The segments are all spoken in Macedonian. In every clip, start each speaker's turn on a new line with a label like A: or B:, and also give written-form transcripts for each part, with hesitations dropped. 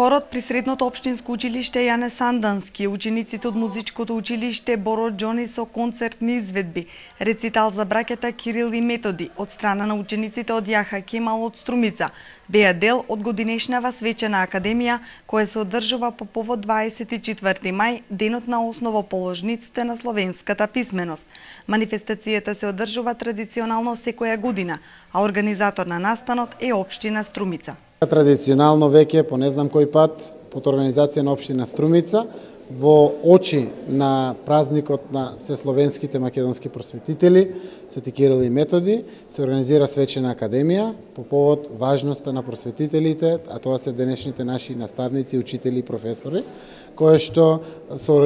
A: Хорот при средното општинско училиште Јане Сандански, учениците од музичкото училиште Боро Џони со концертни изведби, рецитал за браќата Кирил и Методи од страна на учениците од Јаха Кемал од Струмица, беа дел од годинешнава свечена академија која се одржува по повод 24 мај, денот на основоположниците на словенската писменост. Манифестацијата се одржува традиционално секоја година, а организатор на настанот е општина Струмица.
B: Традиционално веќе по не знам кој пат под организација на општина Струмица во очи на празникот на сесловенските македонски просветители Свети Кирил и Методи се организира свечена академија по повод важноста на просветителите, а тоа се денешните наши наставници, учители и професори, која што со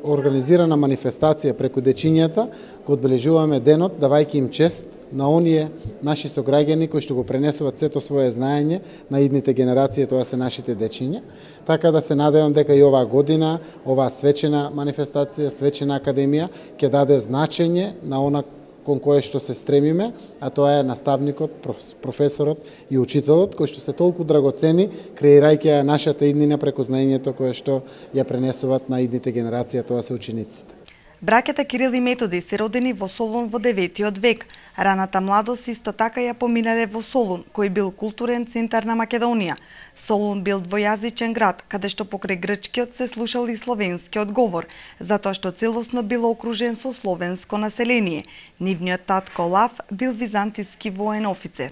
B: организирана манифестација преку дечињата го одбележуваме денот давајќи им чест на оние наши сограѓани кои што го пренесуваат сето свое знаење на идните генерации, тоа се нашите дечиња. Така да се надевам дека и оваа година, оваа свечена манифестација, свечена академија ќе даде значење на она кон кое што се стремиме, а тоа е наставникот, професорот и учителот, кои што се толку драгоцени, креирајќи ја нашата иднина преку знаењето кое што ја пренесуваат на идните генерации, а тоа се учениците.
A: Браќата Кирил и Методи се родени во Солун во 9 век. Раната младост исто така ја поминале во Солун, кој бил културен центар на Македонија. Солун бил двојазичен град, каде што покрај грчкиот се слушал и словенскиот говор, затоа што целосно бил окружен со словенско население. Нивниот татко Лав бил византиски воен офицер.